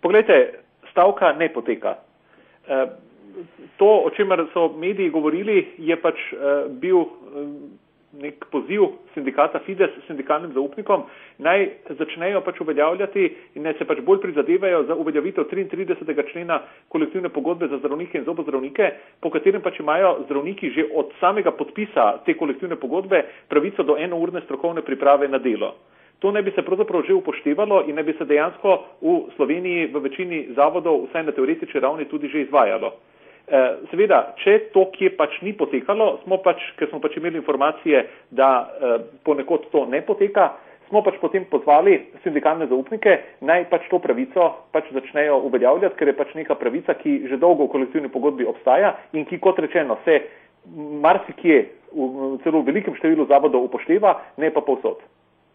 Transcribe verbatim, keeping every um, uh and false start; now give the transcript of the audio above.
Poglejte, stavka ne poteka. To, o čemer so mediji govorili, je pač bil nek poziv sindikata Fides sindikalnim zaupnikom, naj začnejo pač uveljavljati in naj se pač bolj prizadevajo za uveljavitev triintridesetega člena kolektivne pogodbe za zdravnike in zobozdravnike, po katerem pač imajo zdravniki že od samega podpisa te kolektivne pogodbe pravico do enourne strokovne priprave na delo. To naj bi se pravzaprav že upoštevalo in naj bi se dejansko v Sloveniji v večini zavodov vsaj na teoretični ravni tudi že izvajalo. Seveda, če to, kje pač ni potekalo, smo pač, ker smo pač imeli informacije, da ponekod to ne poteka, smo pač potem pozvali sindikalne zaupnike, naj pač to pravico pač začnejo uveljavljati, ker je pač neka pravica, ki že dolgo v kolektivni pogodbi obstaja in ki, kot rečeno, se marsikje, celo v velikem številu zavodov upošteva, ne pa povsod.